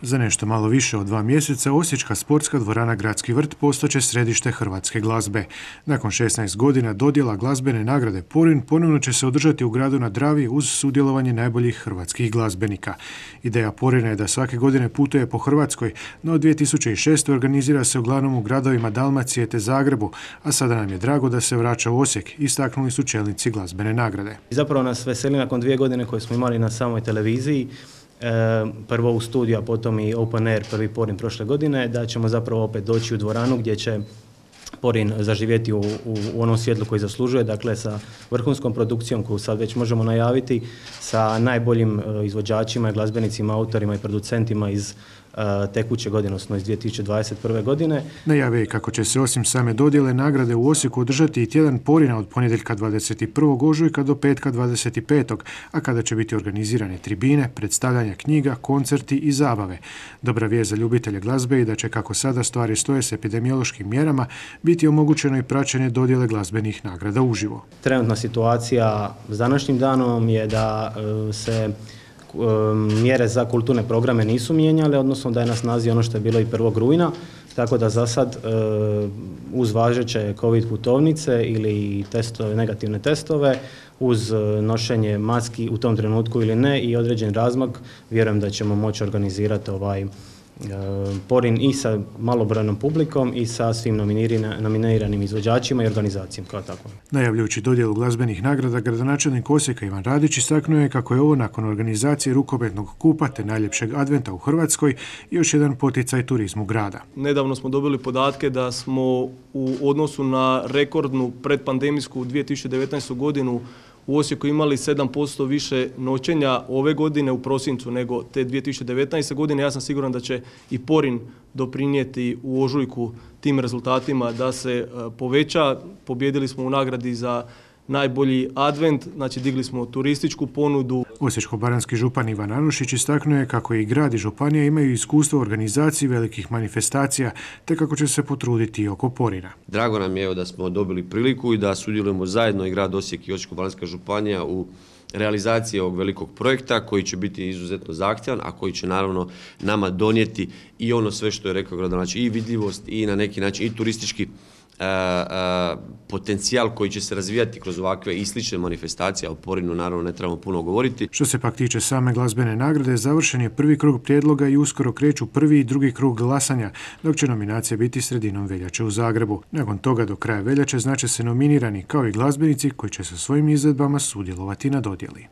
Za nešto malo više od 2 mjeseca Osječka sportska dvorana Gradski vrt postaće središte hrvatske glazbe. Nakon 16 godina dodjela glazbene nagrade Porin ponovno će se održati u gradu na Dravi uz sudjelovanje najboljih hrvatskih glazbenika. Ideja Porina je da svake godine putuje po Hrvatskoj, no od 2006. organizira se uglavnom u gradovima Dalmacije te Zagrebu, a sada nam je drago da se vraća u Osijek, istaknuli su čelnici glazbene nagrade. Zapravo nas veseli nakon 2 godine koje smo imali na samoj televiziji, prvo u studiju, a potom i Open Air, prvi Porin prošle godine, da ćemo zapravo opet doći u dvoranu gdje će Porin zaživjeti u onom svjetlu koji zaslužuje, dakle sa vrhunskom produkcijom koju sad već možemo najaviti, sa najboljim izvođačima, glazbenicima, autorima i producentima iz tekuće godine, odnosno iz 2021. godine. Najave je kako će se osim same dodjele nagrade u Osijeku održati i tjedan Porina od ponedjeljka 21. ožujka do petka 25. a kada će biti organizirane tribine, predstavljanja knjiga, koncerti i zabave. Dobra vijest za ljubitelje glazbe je da će, kako sada stvari stoje s epidemiološkim mjerama, biti omogućeno i praćenje dodjele glazbenih nagrada uživo. Trenutna situacija s današnjim danom je da se mjere za kulturne programe nisu mijenjale, odnosno da je na snazi ono što je bilo i 1. rujna, tako da za sad uz važeće COVID putovnice ili negativne testove, uz nošenje maski u tom trenutku ili ne i određen razmak, vjerujem da ćemo moći organizirati Porin i sa malobrojnom publikom i sa svim nominiranim izvođačima i organizacijama kao tako. Najavljujući dodjelu glazbenih nagrada, gradonačelnik Osijeka Ivan Radić istaknuo je kako je ovo nakon organizacije rukometnog kupa te najljepšeg adventa u Hrvatskoj još jedan poticaj turizmu grada. Nedavno smo dobili podatke da smo u odnosu na rekordnu predpandemijsku 2019. godinu u Osijeku imali 7% više noćenja ove godine u prosincu nego te 2019. godine. Ja sam siguran da će i Porin doprinijeti u ožujku tim rezultatima da se poveća. Pobjedili smo u nagradi za najbolji advent, znači digli smo turističku ponudu. Osječko-baranjski župan Ivan Anušić istaknuo je kako i grad i županija imaju iskustvo u organizaciji velikih manifestacija, te kako će se potruditi i oko Porina. Drago nam je da smo dobili priliku i da sudjelujemo zajedno i grad Osijek i Osječko-baranjska županija u realizaciji ovog velikog projekta koji će biti izuzetno zahtjevan, a koji će naravno nama donijeti i ono sve što je rekao gradonačelnik, i vidljivost i na neki način i turistički potencijal koji će se razvijati kroz ovakve i slične manifestacije, a o Porinu naravno ne trebamo puno govoriti. Što se pak tiče same glazbene nagrade, završen je prvi krug prijedloga i uskoro kreću prvi i drugi krug glasanja, dok će nominacija biti sredinom veljače u Zagrebu. Nakon toga do kraja veljače znače se nominirani kao i glazbenici koji će sa svojim izvedbama sudjelovati na dodjeli.